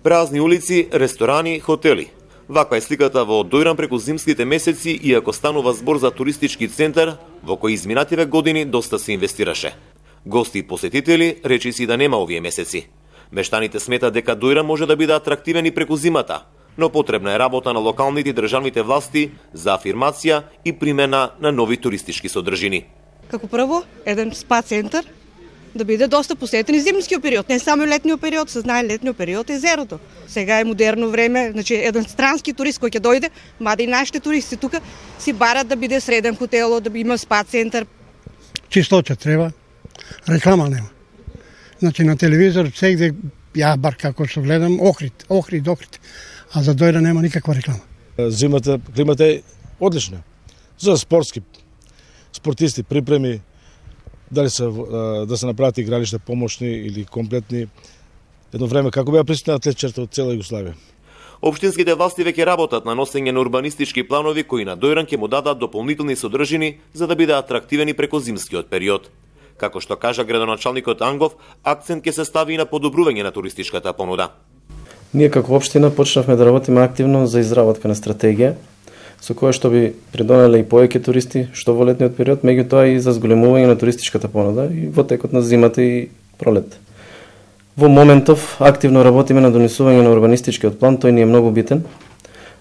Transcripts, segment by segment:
Празни улици, ресторани, хотели. Ваква е сликата во Дојран преку зимските месеци, иако станува збор за туристички центар во кој изминативе години доста се инвестираше. Гости и посетители речиси да нема овие месеци. Мештаните сметат дека Дојран може да биде атрактивен и преку зимата, но потребна е работа на локалните и државните власти за афирмација и примена на нови туристички содржини. Како прво, еден спа центар да биде доста посетен и зимскиот период, не само летниот период, се знае летниот период е езерото. Сега е модерно време, значи еден странски турист кој ќе дојде, мада и нашите туристи тука си барат да биде среден хотело, да има спа центар. Чисточа треба, реклама нема. Значи на телевизор сегде ја бар како што гледам Охрид, а за Дојран нема никаква реклама. Зимата, климата е одлична. За спортисти, припреми, дали да се направат игралишта помошни или комплетни. Едно време како беа присутни атлетчерта од цела Југославија. Општинските власти веќе работат на носење на урбанистички планови кои на Дојран ќе му дадат дополнителни содржини за да биде атрактивени преку зимскиот период. Како што кажа градоначалникот Ангов, акцент ќе се стави и на подобрување на туристичката понуда. Ние како општина почнавме да работиме активно за изработка на стратегија, со која што би придонеле и повеќе туристи, што во летниот период, меѓутоа и за зголемување на туристичката понуда и во текот на зимата и пролет. Во моментов активно работиме на донесување на урбанистичкиот план, тој ни е многу битен,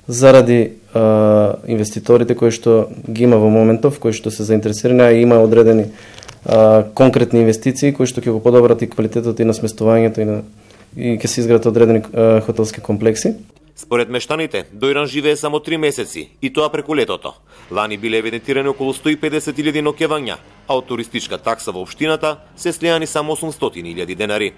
заради инвеститорите кои што ги има во моментов, кои што се заинтересирани, а има одредени конкретни инвестиции кои што ќе го подобрат и квалитетот и на сместувањето и ќе се изградат одредени хотелски комплекси. Според мештаните, Дојран живее само 3 месеци, и тоа преку летото. Лани биле евидентирани околу 150.000 ноќевања, а од туристичка такса во општината се слеани само 800.000 денари.